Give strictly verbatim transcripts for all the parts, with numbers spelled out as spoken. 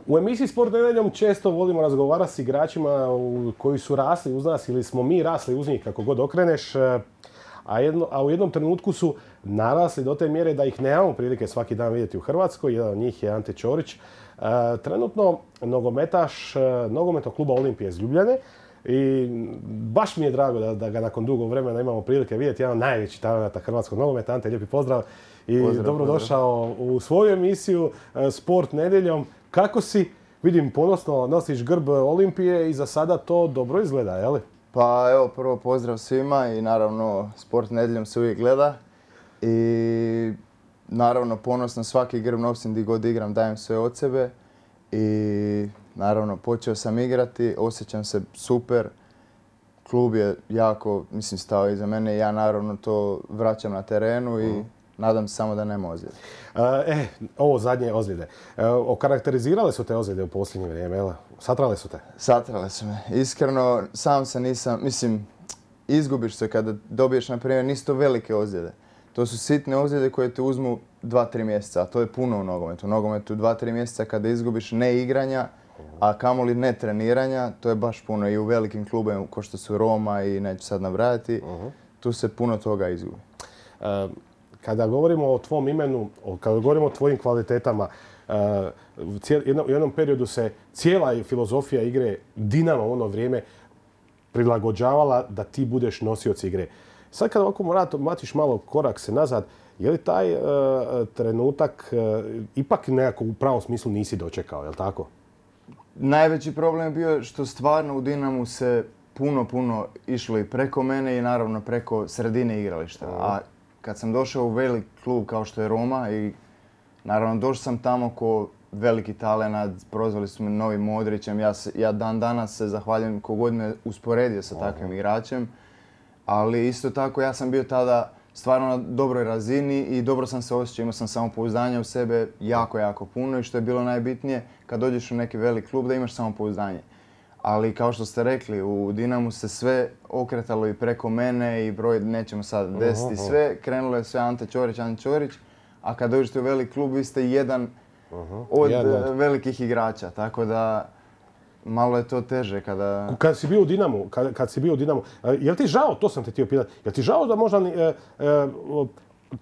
U emisiji Sport nedjeljom često volimo razgovarati s igračima koji su rasli uz nas ili smo mi rasli uz njih, kako god okreneš. A, jedno, a u jednom trenutku su narasli do te mjere da ih nemamo prilike svaki dan vidjeti u Hrvatskoj. Jedan od njih je Ante Ćorić. E, trenutno nogometaš nogometnog kluba Olimpije iz Ljubljane. I baš mi je drago da, da ga nakon dugo vremena imamo prilike vidjeti. Jedan od najvećih talenata hrvatskog nogometa. Ante, lijepi pozdrav i pozdrav, dobrodošao pozdrav. U svoju emisiju Sport nedjeljom. Kako si? Vidim, ponosno nosiš grb Olimpije i za sada to dobro izgleda, je li? Pa evo, prvo pozdrav svima i naravno Sport nedjeljom se uvijek gleda. I naravno ponosno svaki grb nosim gdje god igram, dajem sve od sebe. I naravno počeo sam igrati, osjećam se super. Klub je jako, mislim, stao iza mene i ja naravno to vraćam na terenu i nadam se samo da nema ozljede. E, ovo zadnje ozljede. E, okarakterizirale su te ozljede u posljednje vrijeme, jel? Satrale su te? Satrale su me. Iskreno, sam se nisam, mislim, izgubiš se kada dobiješ, na primjer, nisu to velike ozljede. To su sitne ozljede koje te uzmu dva tri mjeseca, a to je puno u nogometu. U nogometu dva tri mjeseca kada izgubiš ne igranja, a kamoli ne treniranja, to je baš puno. I u velikim klubovima, kao što su Roma i neću sad nabrajati, uh-huh. tu se puno toga izgubi. Uh, kada govorimo o tvom imenu, kada govorimo o tvojim kvalitetama, uh, cijel, jedno, u jednom periodu se cijela filozofija igre Dinamo u ono vrijeme prilagođavala da ti budeš nosioc igre. Sad kada ovako mlatiš malo korak se nazad, je li taj uh, trenutak uh, ipak nekako u pravom smislu nisi dočekao, je li tako? Najveći problem je bio što stvarno u Dinamu se puno, puno išlo i preko mene i naravno preko sredine igrališta. A kad sam došao u velik klub kao što je Roma i naravno došao sam tamo ko veliki talenat, prozvali su me Novi Modrićem. Ja, se, ja dan danas se zahvaljujem kogod me usporedio sa takvim igračem. Ali isto tako ja sam bio tada stvarno na dobroj razini i dobro sam se osjećao. Imao sam samopouzdanje u sebe jako, jako puno i što je bilo najbitnije kad dođeš u neki velik klub da imaš samopouzdanje. Ali kao što ste rekli, u Dinamu se sve okretalo i preko mene i broj, nećemo sad desiti sve, krenulo je sve Ante Ćorić, Ante Ćorić, a kad dođete u velik klub vi ste jedan od velikih igrača, tako da malo je to teže kada... Kad si bio u Dinamu, kad, kad si bio u Dinamu, je li ti žao, to sam te htio pitati, je li ti žao da možda e, e,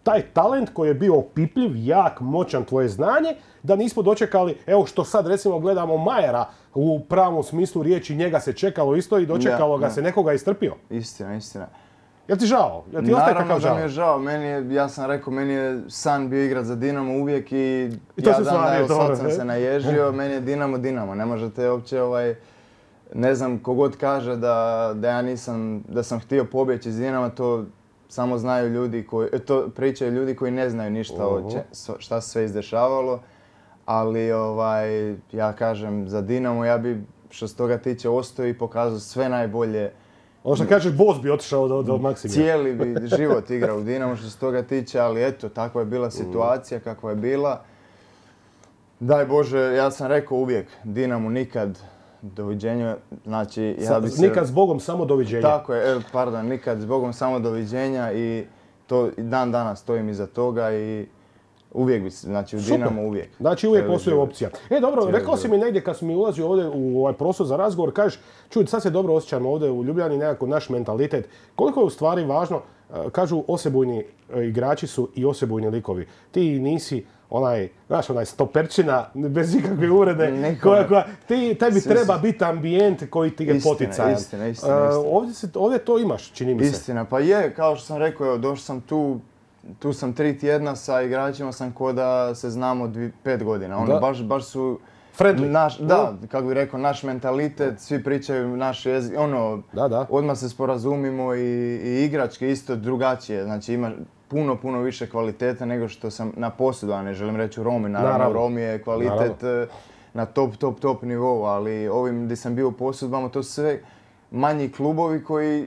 taj talent koji je bio opipljiv, jak, moćan, tvoje znanje, da nismo dočekali, evo što sad recimo gledamo Majera u pravom smislu riječi, njega se čekalo isto i dočekalo ja, ga ja. se nekoga istrpio? Istina, istina. Jel ti žao? Jel ti ostaje kakav žao? Naravno da mi je žao. Meni je, ja sam rekao, meni je san bio igrat za Dinamo uvijek i, I ja dan da, evo sad sam se naježio, meni je Dinamo Dinamo. Ne možete uopće, ovaj, ne znam, kogod kaže da, da ja nisam, da sam htio pobjeći iz Dinama, to samo znaju ljudi koji, to pričaju ljudi koji ne znaju ništa uh-huh. o če, šta se sve izdešavalo. Ali ovaj, ja kažem, za Dinamo ja bi što se toga tiče ostao i pokazao sve najbolje. Ono što kažeš, boss bi otišao do, do maksimuma. Cijeli bi život igrao u Dinamo što se toga tiče, ali eto, takva je bila situacija kakva je bila. Daj Bože, ja sam rekao uvijek, Dinamo nikad doviđenja, znači ja bi se... Nikad s Bogom, samo doviđenja. Tako je, pardon, nikad s Bogom, samo doviđenja i to dan danas stojim iza toga i uvijek bi se, znači u Dinamo uvijek. Znači uvijek postoji opcija. E dobro, cijeli rekao si mi negdje kad sam mi ulazio ovdje u ovaj prostor za razgovor, kažeš, čuj, sad se dobro osjećam ovdje u Ljubljani, nekako naš mentalitet. Koliko je u stvari važno, kažu osebujni igrači su i osebujni likovi. Ti nisi onaj, znaš, onaj stoperčina, bez ikakve uvrede, koja, koja, ti, tebi treba biti ambijent koji ti je poticajan. Istina, istina, istina. Ovdje, se, ovdje to imaš, čini mi se. Istina, pa je, kao što sam rekao, evo, došao sam tu, tu sam tri tjedna sa igračima, sam ko da se znamo dvi, pet godina. Ono, baš, baš su... Friendly. Naš, da, kako bih rekao, naš mentalitet, svi pričaju naš jezik, ono, da, da. odmah se sporazumimo i, i igračke isto drugačije. Znači ima puno, puno više kvalitete nego što sam na posudu, a ne želim reći u Romi. Naravno, Naravno. Romi je kvalitet Naravno. na top, top, top nivou, ali ovim gdje sam bio u posudbama, to su sve manji klubovi koji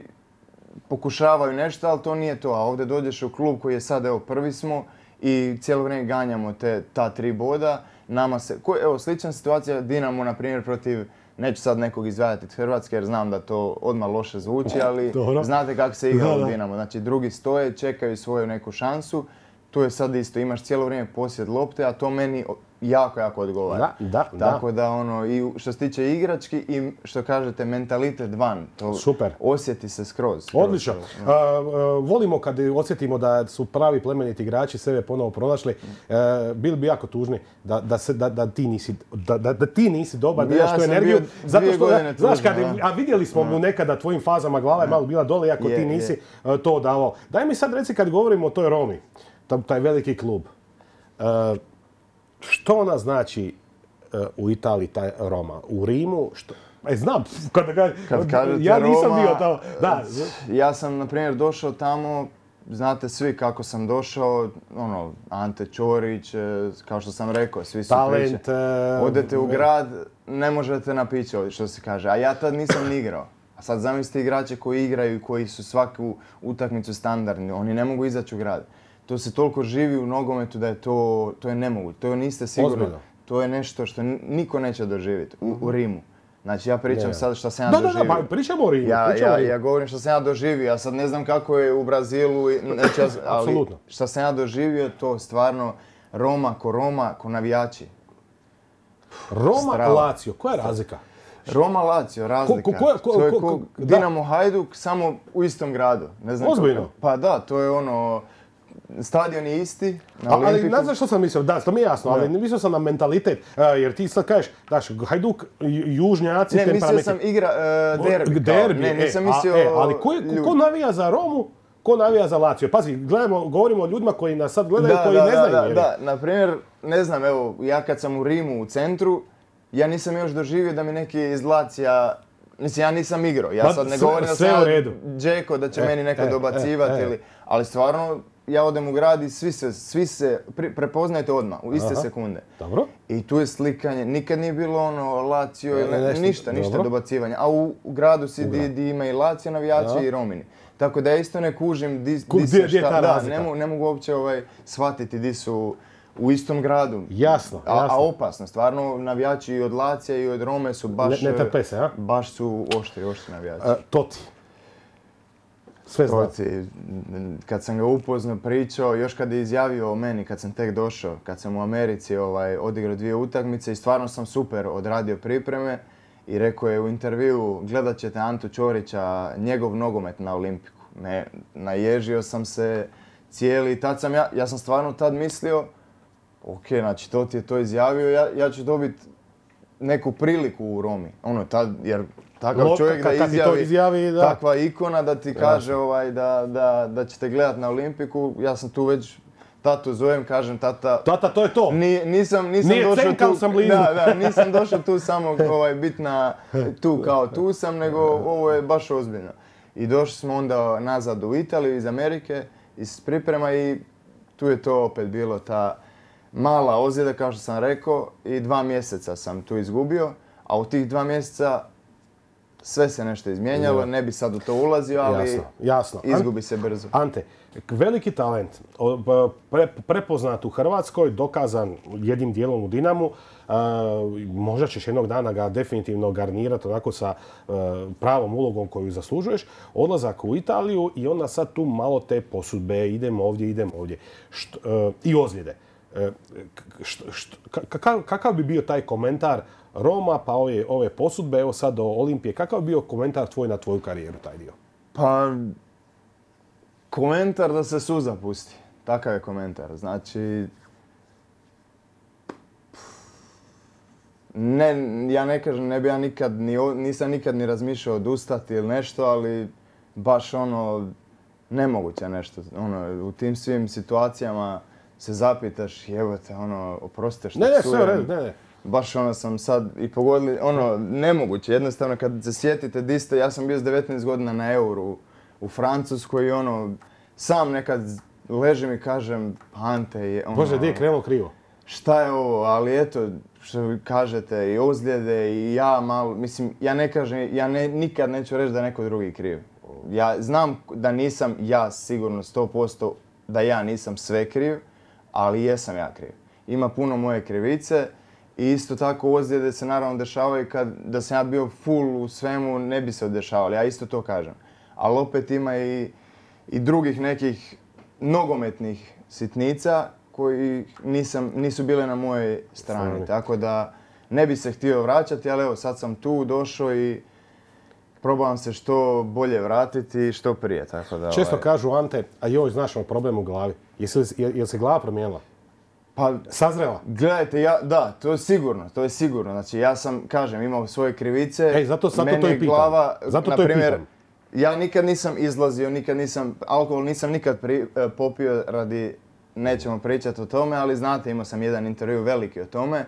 pokušavaju nešto, ali to nije to. A ovdje dođeš u klub koji je sad, evo, prvi smo i cijelo vrijeme ganjamo te, ta tri boda. Nama se, ko, evo, slična situacija Dinamo, na primjer, protiv, neću sad nekog izvajati iz Hrvatske jer znam da to odmah loše zvuči, ali Dobro. znate kako se igra u Dinamo. Znači, drugi stoje, čekaju svoju neku šansu. tu je sad isto, imaš cijelo vrijeme posjed lopte, a to meni jako, jako odgovara. Da, da, Tako da. da, ono, i što se tiče igrački i što kažete, mentalitet van, to Super. osjeti se skroz. skroz Odlično. skroz, A, a, volimo kad osjetimo da su pravi plemeniti igrači sebe ponovo pronašli. E, bili bi jako tužni da, da, se, da, da, ti, nisi, da, da, da ti nisi dobar, da Ja imaš tu sam energiju. bio Zato dvije što, godine znaš, tužan, kad, da. a vidjeli smo mu nekada tvojim fazama, glava je malo bila dole, iako Je, ti je. nisi e, to davao. Daj mi sad reci kad govorimo o toj Romi, taj, taj veliki klub. E, što ona znači u Italiji, taj Roma? U Rimu, što... E, znam, kad, kad, Kad kažete ja nisam Roma, bio tamo. Da. Ja sam, na primjer, došao tamo, znate svi kako sam došao, ono, Ante Ćorić, e, kao što sam rekao, svi su Talent, priče. e, Odete u ve- grad, ne možete na piće, ovdje, što se kaže, a ja tad nisam ni igrao. A sad zamislite igrače koji igraju i koji su svaku utakmicu standardni, oni ne mogu izaći u grad. To se toliko živi u nogometu da je to, to je nemoguće, to niste sigurno. Ozbiljno. To je nešto što ni- niko neće doživjeti u, u Rimu. Znači ja pričam Ne. sad što sam ja Da, da, doživio. da, pa pričamo o Rimu. Ja, pričamo o ja, Rimu. ja govorim što sam ja doživio, ja sad ne znam kako je u Brazilu, i- neću ja- ali Apsolutno. što sam ja doživio, to stvarno Roma ko Roma, ko navijači. Roma, Strava. Lazio, koja je razlika? Roma Lazio, razlika. Ko- ko- ko- to je ko- ko ko- da. Dinamo Hajduk, samo u istom gradu. Ne znam Ozbiljno? kako- Pa da, to je ono, stadion je isti, na A, ali Olimpiku. ne znaš što sam mislio, da, to mi je jasno, ali Da. mislio sam na mentalitet, e, jer ti sad kažeš, daš, Hajduk, ju- južnjaci, Ne, mislio temperamenti. sam igra e, derbi. kao. Derbi, Ne, e, nisam a, mislio... e, ali ko, je- ljudi. ko navija za Romu, ko navija za Lazio? Pazi, gledamo, govorimo o ljudima koji nas sad gledaju, Da, koji da, ne da, znaju. da, je li? da. Na primjer, ne znam, evo, ja kad sam u Rimu, u centru, ja nisam još doživio da mi neki iz Lacija, mislim, ja nisam igrao, ja Pa, sad ne sve- govorim da sve sam u ja redu. Džeko, da će E, meni neko e, dobacivati e, e. ili, ali stvarno, ja odem u grad i svi se, svi se pri- prepoznajete odmah, u iste Aha. sekunde. Dobro. I tu je slikanje, nikad nije bilo ono Lazio ili Ne, ne- nešto- ništa, ništa dobro. dobacivanja. A u, u gradu si di, gradu. di ima i Lazio navijači Da. i Romini. Tako da ja isto ne kužim di, Ku- di gdje- se gdje je šta, ta da, razlika? ne, mogu, ne mogu uopće ovaj, shvatiti di su u istom gradu. Jasno, A, jasno. a opasno, stvarno navijači i od Lacija i od Rome su baš, Ne- ne trpe se, a? baš su oštri, oštri navijači. E, Toti. Sve zna. Toci, kad sam ga upoznao, pričao, još kad je izjavio o meni, kad sam tek došao, kad sam u Americi ovaj, odigrao dvije utakmice i stvarno sam super odradio pripreme i rekao je u intervjuu, gledat ćete Antu Ćorića, njegov nogomet na Olimpiku. Me, naježio sam se cijeli, tad sam ja, ja sam stvarno tad mislio, ok, znači to ti je to izjavio, ja, ja ću dobiti neku priliku u Romi. Ono, tad, jer takav Lo- čovjek kad- da kad ti to izjavi, izjavi, da. takva ikona da ti kaže ovaj, da, da, da ćete gledat na Olimpiku, ja sam tu već tatu zovem, kažem tata, Tata, to je to. ni, nisam, nisam Nije došao cenka, ali tu, sam blizu. da, da, nisam došao tu samo ovaj, bit na, tu kao tu sam, nego ovo je baš ozbiljno. I došli smo onda nazad u Italiju iz Amerike, iz priprema i tu je to opet bilo ta mala ozljeda, kao što sam rekao, i dva mjeseca sam tu izgubio, a u tih dva mjeseca sve se nešto izmijenjalo, ne bi sad u to ulazio, ali Jasno, jasno. izgubi se brzo. Ante, veliki talent, o, b- pre- prepoznat u Hrvatskoj, dokazan jednim dijelom u Dinamu. E, možda ćeš jednog dana ga definitivno garnirati onako sa e, pravom ulogom koju zaslužuješ. Odlazak u Italiju i onda sad tu malo te posudbe, idemo ovdje, idemo ovdje. Št- e, I ozljede. E, k- št- št- ka- kakav, kakav bi bio taj komentar Roma, pa ove, ove posudbe, evo sad do Olimpije, kakav bi bio komentar tvoj na tvoju karijeru, taj dio? Pa, komentar da se suza pusti. Takav je komentar. Znači, ne, ja ne kažem, ne bi ja nikad, ni, o- nisam nikad ni razmišljao odustati ili nešto, ali baš ono, nemoguće nešto. Ono, u tim svim situacijama se zapitaš, jebote, ono, oprostite što Ne, ne, psujem. sve u redu, ne, ne. Baš ono sam sad i pogodili, ono, nemoguće, jednostavno kad se sjetite di ste, ja sam bio s devetnaest godina na Euru u Francuskoj i ono, sam nekad ležim i kažem, Ante je ono, Bože, gdje je krenulo krivo? šta je ovo, ali eto, što vi kažete, i ozljede i ja malo, mislim, ja ne kažem, ja ne, nikad neću reći da je neko drugi kriv. Ja znam da nisam ja sigurno sto posto da ja nisam sve kriv, ali jesam ja kriv. Ima puno moje krivice. I isto tako ozljede se naravno dešavaju kad da sam ja bio full u svemu ne bi se dešavali, ja isto to kažem. Ali opet ima i, i drugih nekih nogometnih sitnica koji nisam, nisu bile na mojoj strani. Strani. Tako da ne bi se htio vraćati, ali evo sad sam tu došao i probavam se što bolje vratiti i što prije. Tako da, Često ovaj... kažu, Ante, a joj, znaš, imam problem u glavi. Jesi li, je, je li se glava promijenila? Pa, sazrela? Gledajte, ja, da, to je sigurno, to je sigurno. Znači, ja sam, kažem, imao svoje krivice. Ej, zato, zato meni to i pitam. Glava, zato na to primjer, i pitam. Ja nikad nisam izlazio, nikad nisam, alkohol nisam nikad pri, popio radi, nećemo pričati o tome, ali znate, imao sam jedan intervju veliki o tome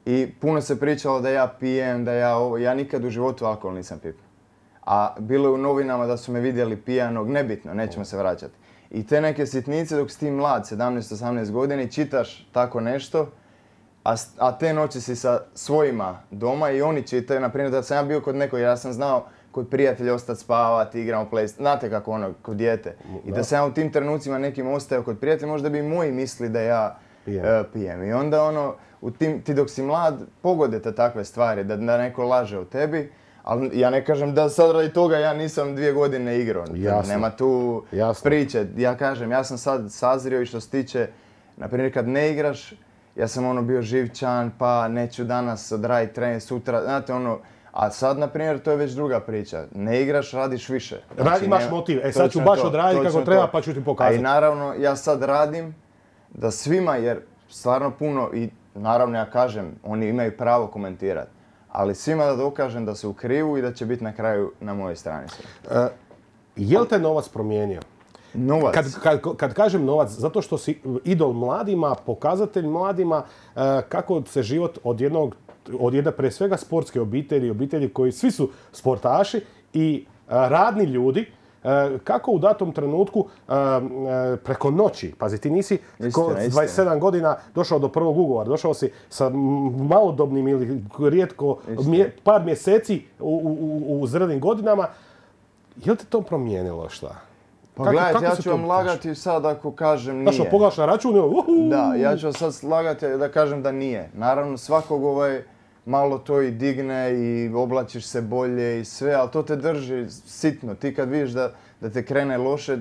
i puno se pričalo da ja pijem, da ja ovo, ja nikad u životu alkohol nisam pipio. A bilo je u novinama da su me vidjeli pijanog, nebitno, nećemo se vraćati. I te neke sitnice dok si ti mlad, sedamnaest osamnaest godina, čitaš tako nešto, a, a te noći si sa svojima doma i oni čitaju, na primjer da sam ja bio kod nekog, ja sam znao kod prijatelja ostati spavati, igramo play, znate kako ono, kod dijete. I da sam ja u tim trenucima nekim ostao kod prijatelja, možda bi i moji misli da ja pijem. Uh, pijem. I onda ono, u tim, ti dok si mlad, pogodite takve stvari, da, da neko laže o tebi. Ali ja ne kažem da sad radi toga ja nisam dvije godine igrao. Jasno. Nema tu Jasno. priče. Ja kažem, ja sam sad sazrio i što se tiče, na primjer kad ne igraš, ja sam ono bio živčan, pa neću danas odraditi trening, sutra, znate ono, a sad, na primjer, to je već druga priča. Ne igraš, radiš više. Znači, imaš nema, motiv. E sad ću baš odraditi kako treba, pa ću ti pokazati. A i naravno, ja sad radim da svima, jer stvarno puno, i naravno ja kažem, oni imaju pravo komentirati. Ali svima da dokažem da su u krivu i da će biti na kraju na mojoj strani. Uh, je li te novac promijenio? Novac? Kad, kad, kad kažem novac, zato što si idol mladima, pokazatelj mladima uh, kako se život od jednog, od jedne pre svega sportske obitelji, obitelji koji svi su sportaši i uh, radni ljudi, Uh, kako u datom trenutku uh, uh, preko noći, pazi, ti nisi ko, s dvadeset sedam godina došao do prvog ugovora, došao si sa malodobnim ili rijetko mje, par mjeseci u, u, u zrelim godinama. Je li te to promijenilo šta? Pa kako, gledajte, kako ja ću vam lagati sad ako kažem nije. Znaš, pogledaš na račun, uhu. Da, ja ću sad lagati da kažem da nije. Naravno, svakog ovaj malo to i digne i oblačiš se bolje i sve, ali to te drži sitno. Ti kad vidiš da, da te krene loše,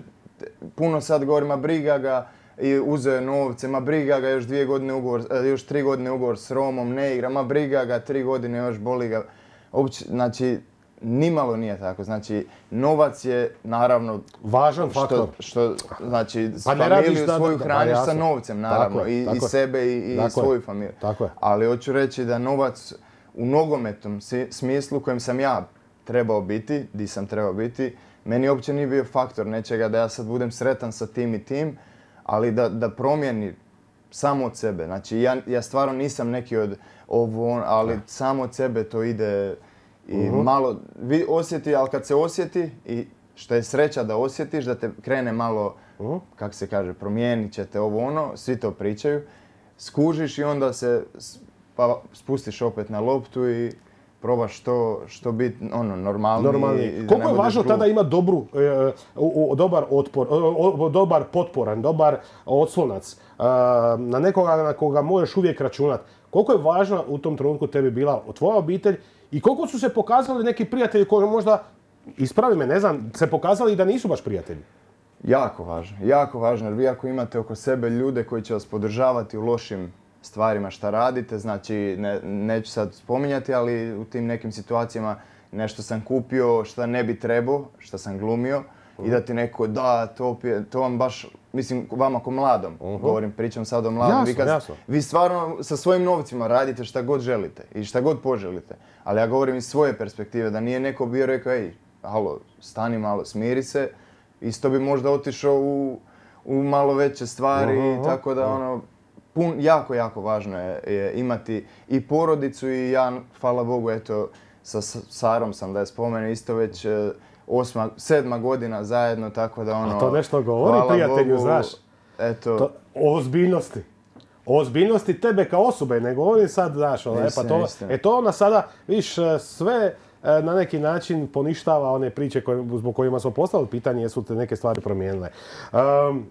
puno sad govori, ma briga ga, i uzeo je novce, ma briga ga, još dvije godine ugovor, još tri godine ugovor s Romom, ne igra, ma briga ga, tri godine još boli ga. Uopće, znači, nimalo nije tako. Znači, novac je naravno važan što, faktor. Što, znači, pa familiju da, svoju da, hraniš da, sa novcem, naravno, tako je, i, tako i sebe i, i svoju familiju. Tako je. Ali hoću reći da novac u nogometnom smislu u kojem sam ja trebao biti, di sam trebao biti, meni uopće nije bio faktor nečega da ja sad budem sretan sa tim i tim, ali da, da promijeni samo od sebe. Znači, ja, ja stvarno nisam neki od ovo, ali da. Samo od sebe to ide i uh-huh. malo vi osjeti, ali kad se osjeti i što je sreća da osjetiš, da te krene malo, uh-huh. kako se kaže, promijenit će te ovo ono, svi to pričaju, skužiš i onda se pa spustiš opet na loptu i probaš što, što biti ono, normalniji. Normalni. Koliko je važno tada ima dobru, e, o, dobar otpor, o, dobar potporan, dobar odslonac, e, na nekoga na koga možeš uvijek računati. Koliko je važna u tom trenutku tebi bila tvoja obitelj i koliko su se pokazali neki prijatelji koji možda, ispravi me, ne znam, se pokazali da nisu baš prijatelji? Jako važno, jako važno, jer vi ako imate oko sebe ljude koji će vas podržavati u lošim stvarima šta radite, znači ne, neću sad spominjati, ali u tim nekim situacijama nešto sam kupio šta ne bi trebao, šta sam glumio uh-huh. i da ti neko da, to, to vam baš, mislim vama ko mladom, uh-huh. govorim, pričam sad o mladom, jasno, vi, kad, jasno. vi stvarno sa svojim novcima radite šta god želite i šta god poželite, ali ja govorim iz svoje perspektive, da nije neko bio rekao, ej, halo, stani malo, smiri se, isto bi možda otišao u, u malo veće stvari, uh-huh. tako da ono, Pun, jako, jako važno je, je imati i porodicu i ja, hvala Bogu, eto, sa Sarom sam da je spomenem, isto već osma, sedma godina zajedno, tako da ono... A to nešto govori prijatelju, Bogu, znaš, eto... To, o ozbiljnosti. O ozbiljnosti tebe kao osobe, ne govorim sad, znaš, ono, istina, e, pa to, istina. e, to ona sada, viš, sve na neki način poništava one priče koje, zbog kojima smo postavili pitanje, jesu te neke stvari promijenile. Um,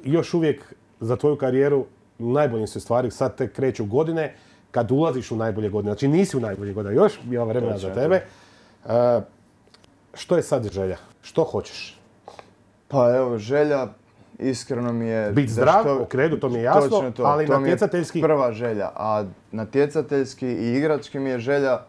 još uvijek za tvoju karijeru najboljim se stvari sad tek kreću godine kad ulaziš u najbolje godine. Znači nisi u najbolje godine, još ima vremena za tebe. Uh, što je sad želja? Što hoćeš? Pa evo, želja, iskreno mi je... Biti da zdrav, što- u kredu, to mi je jasno, točno to, ali to mi je natjecateljski... prva želja, a natjecateljski i igrački mi je želja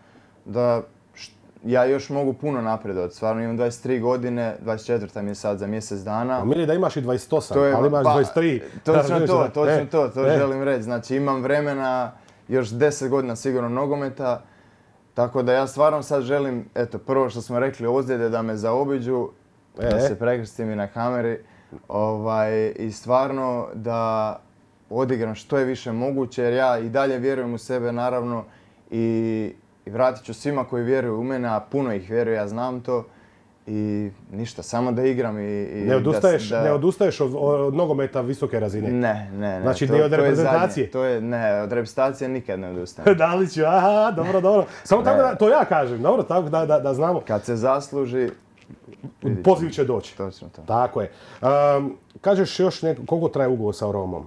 da š- ja još mogu puno napredovati. Stvarno imam dvadeset tri godine, dvadeset četvrta mi je sad za mjesec dana. A mili da imaš i dvadeset osam, To je- ali imaš pa, dvadeset tri. Točno to, točno E, to, to e. želim reći. Znači imam vremena još deset godina sigurno nogometa, tako da ja stvarno sad želim, eto, prvo što smo rekli, ozljede da me zaobiđu, E. da se prekrstim i na kameri, ovaj, i stvarno da odigram što je više moguće, jer ja i dalje vjerujem u sebe, naravno, i, i vratit ću svima koji vjeruju u mene, a puno ih vjeruje, ja znam to. I ništa, samo da igram i... i Ne odustaješ, da, ne odustaješ od, od nogometa visoke razine. Ne, ne, ne. Znači, to, ni od to je reprezentacije? zadnje. To je, ne, od reprezentacije nikad ne odustajem. Daliću, aha, dobro, dobro. Samo tako Ne. da, to ja kažem, dobro, tako da, da, da znamo. Kad se zasluži, vidit Poziv ćemo. će doći. Točno to. Tako je. Um, kažeš još neko, koliko traje ugovor sa Romom?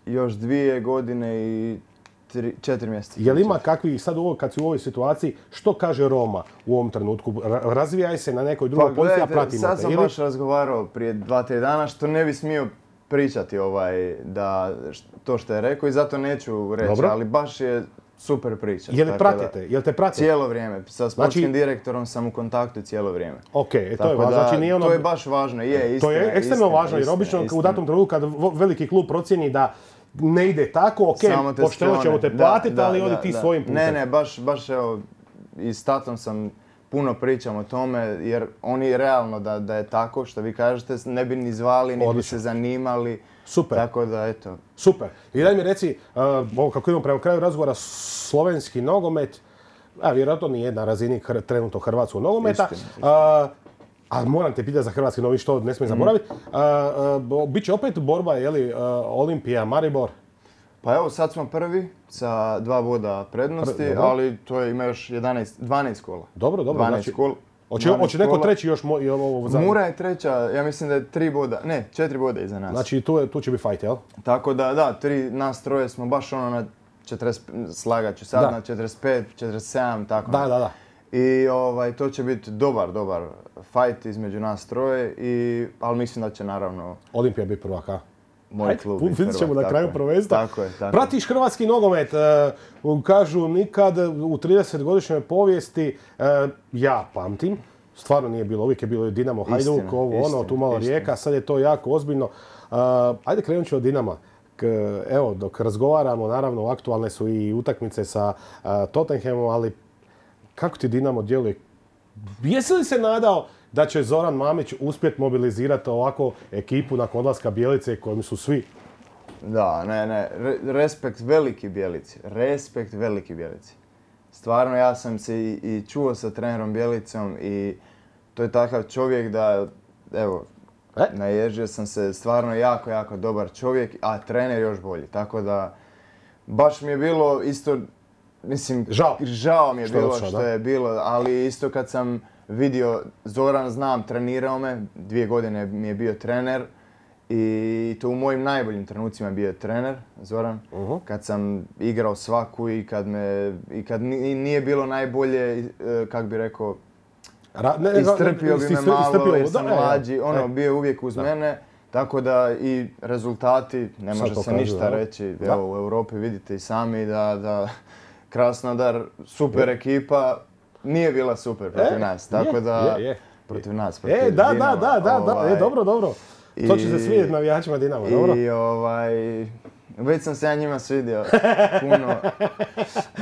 Još dvije godine i tri, četiri mjeseca. Je li ima kakvi, sad u ovo, kad si u ovoj situaciji, što kaže Roma u ovom trenutku? Ra- razvijaj se na nekoj drugoj Pa poziciji, a gledajte, pratimo sad te. sam Ili- baš razgovarao prije dva, tri dana što ne bi smio pričati ovaj, da, š- to što je rekao i zato neću reći, Dobro. ali baš je super priča. Je li tako da- pratite? Jel te prate? Cijelo vrijeme. Sa sportskim Znači- direktorom sam u kontaktu cijelo vrijeme. Ok, e, to je Tako važno. da, Znači nije ono... to je baš važno, je, istina. To je ekstremno istina, važno jer istina, obično u istina. datom trenutku kad vo- veliki klub procjeni da ne ide tako, ok, Samo te pošteno sklone. ćemo te Da, platiti, da, ali da, odi ti da. svojim putem. Ne, ne, baš, baš evo, i s tatom sam puno pričam o tome, jer oni realno da, da je tako, što vi kažete, ne bi ni zvali, ni bi Odlično. se zanimali. Super. Tako da, eto. Super. I daj mi reci, uh, ovo kako idemo prema kraju razgovora, slovenski nogomet, a vjerojatno nije na razini hr- trenutno hrvatskog nogometa, Istina, uh, a moram te pitati za hrvatski nogomet, što ne smijem zaboraviti. Uh, uh, bo- Biće opet borba, je li, uh, Olimpija, Maribor? Pa evo, sad smo prvi sa dva boda prednosti, Pre- dobro. ali to je, ima još jedanaest, dvanaest kola. Dobro, dobro. dvanaest Znači, kola. hoće, dvanaest hoće neko kola. treći još mo, i ovo zadnje? Mura je treća, ja mislim da je tri boda, ne, četiri boda iza nas. Znači tu, je- tu će biti fajt, jel? Tako da, da, tri, nas troje smo baš ono na četrdeset, slagat ću sad, Da. na četrdeset pet, četrdeset sedam, tako. Da, da, da. I ovaj, to će biti dobar, dobar fight između nas troje, i, ali mislim da će naravno Olimpija biti prvak, a? moj Ajde, klub vidjet biti ćemo prvak, na kraju tako je. prvenstva. Tako je, tako je. Pratiš hrvatski nogomet, e, kažu nikad u tridesetgodišnjoj povijesti, e, ja pamtim, stvarno nije bilo, uvijek je bilo Dinamo, Hajduk, Istina, ovo ono, istina, tu malo istina. Rijeka, sad je to jako ozbiljno. E, ajde krenut ću od Dinama. K- evo, dok razgovaramo, naravno aktualne su i utakmice sa e, Tottenhamom, ali kako ti Dinamo djeluje? Jesi li se nadao da će Zoran Mamić uspjeti mobilizirati ovako ekipu nakon odlaska Bjelice kojim su svi? Da, ne, ne, re- respekt veliki Bjelici, respekt veliki Bjelici. Stvarno, ja sam se i, i čuo sa trenerom Bjelicom i to je takav čovjek da, evo, E? naježio sam se, stvarno jako, jako dobar čovjek, a trener još bolji. Tako da, baš mi je bilo isto, mislim, Žao. žao mi je Što je bilo otišao, što da? je bilo, ali isto kad sam vidio, Zoran znam, trenirao me, dvije godine mi je bio trener i to u mojim najboljim trenucima je bio trener, Zoran. Uh-huh. Kad sam igrao svaku i kad me, i kad ni- nije bilo najbolje, e, kak bi rekao, Ra- ne, ne, istrpio bi me istri- malo istrpio, jer da, sam e, e, mlađi, e. ono, bio je uvijek uz mene. Tako da i rezultati, ne Sad može se pokazuju, ništa jel? reći. Da. Evo, u Europi vidite i sami da, da Krasnodar, super ekipa, nije bila super protiv E, nas. Tako je, da, je, je. protiv nas, protiv E, da, da, Dinama, da, da, da, e, ovaj, dobro, dobro. To će se i- svidjeti navijačima Dinama, dobro? I ovaj, već sam se ja njima svidio puno,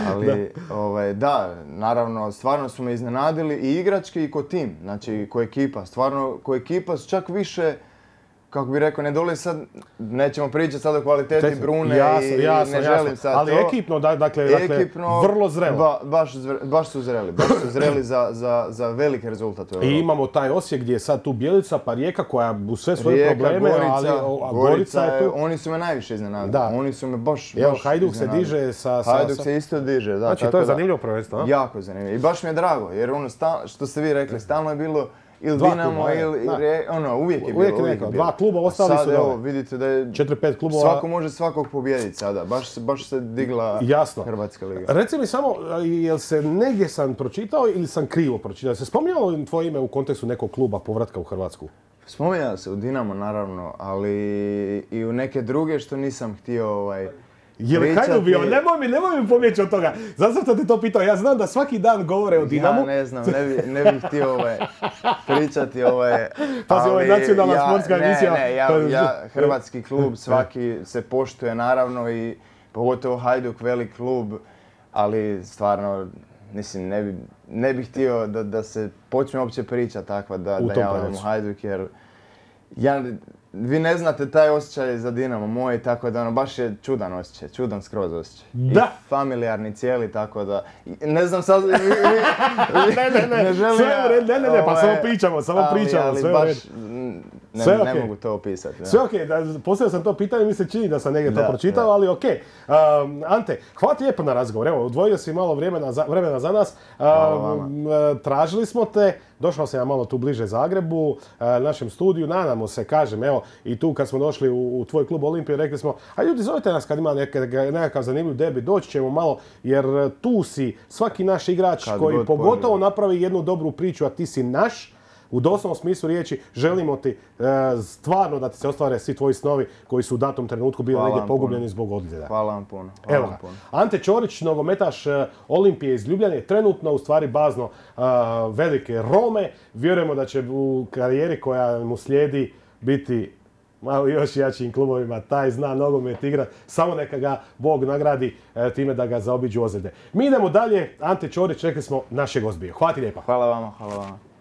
ali ovaj, da, naravno, stvarno su me iznenadili i igrački i ko tim, znači ko ekipa, stvarno ko ekipa su čak više, kako bi rekao, ne dole sad, nećemo pričati sad o kvaliteti Te- Brune jasno, i jasno, ne jasno. želim sad Ali to. ekipno, da- dakle, dakle, Ekipno, vrlo zrelo. ba- baš, zre- baš su zreli, baš su zreli za, za, za veliki rezultat u I Europi. imamo taj Osijek gdje je sad tu Bjelica, pa Rijeka koja u sve svoje Rijeka, probleme, Gorica, ali o, a Gorica je tu. Oni su me najviše iznenadili. Da. Oni su me baš, Evo, baš Hajduk se iznenadili. diže sa... sa, Hajduk sa- se isto diže, da. Znači, tako to je da- zanimljivo prvenstvo, a? Jako zanimljivo. I baš mi je drago, jer ono, sta- što ste vi rekli, stalno je bilo ili Dva Dinamo kluba, ili, da. Re- ono, uvijek je bilo. Uvijek je neko, bilo. dva kluba, A ostali sad, su evo, dole. vidite da je Četiri, pet klubova. svako može svakog pobijediti sada. Baš, se- baš se digla Jasno. Hrvatska liga. Reci mi samo, jel se negdje sam pročitao ili sam krivo pročitao? Se spominjalo tvoje ime u kontekstu nekog kluba povratka u Hrvatsku? Spominjao se u Dinamo naravno, ali i u neke druge što nisam htio ovaj, Je li Hajduk bio? Nemoj mi, nemoj mi pobjeći od toga. Zato sam te to pitao. Ja znam da svaki dan govore o Dinamu. Ja ne znam, ne bi, ne bih htio ovaj, pričati ovaj... Pazi, ovo je nacionalna ja, sportska ne, emisija. Ne, ja, ja, hrvatski klub svaki se poštuje naravno i pogotovo Hajduk, velik klub, ali stvarno, mislim, ne bi, ne bih htio da, da se počne uopće priča takva da, da ja odem u Hajduk, jer ja, vi ne znate taj osjećaj za Dinamo moj, tako da ono, baš je čudan osjećaj, čudan skroz osjećaj. Da. I familijarni cijeli, tako da, ne znam sad, vi, vi, ne, ne, ne, ne želim sve u red, ne, ne, ne, pa samo pričamo, samo ali, pričamo, ali sve baš, u red. Ne, sve ne okay. mogu to opisati. Da. Sve okej, okay. Postavio sam to pitanje, mi se čini da sam negdje da, to pročitao, da. ali okej. Okay. Um, Ante, hvala ti lijepo na razgovor, evo, odvojio si malo vremena za, vremena za nas. Um, tražili smo te, došao sam ja malo tu bliže Zagrebu, uh, našem studiju, nadamo se, kažem, evo, i tu kad smo došli u, u tvoj klub Olimpije, rekli smo, a ljudi zovite nas kad ima neke, nekakav zanimljiv debi, doći ćemo malo, jer tu si svaki naš igrač kad koji pogotovo poželi. Napravi jednu dobru priču, a ti si naš, u doslovnom smislu riječi, želimo ti e, stvarno da ti se ostvare svi tvoji snovi koji su u datom trenutku bili negdje pogubljeni zbog ozljeda. Hvala vam puno. Hvala Evo vam puno. Ante Ćorić, nogometaš e, Olimpije iz Ljubljane, trenutno u stvari bazno e, velike Rome. Vjerujemo da će u karijeri koja mu slijedi biti malo još jačim klubovima, taj zna nogomet igrat, samo neka ga Bog nagradi e, time da ga zaobiđu ozljede. Mi idemo dalje, Ante Ćorić, rekli smo, našeg gost bio. Hvala ti lijepa. Hvala vama, hvala vama.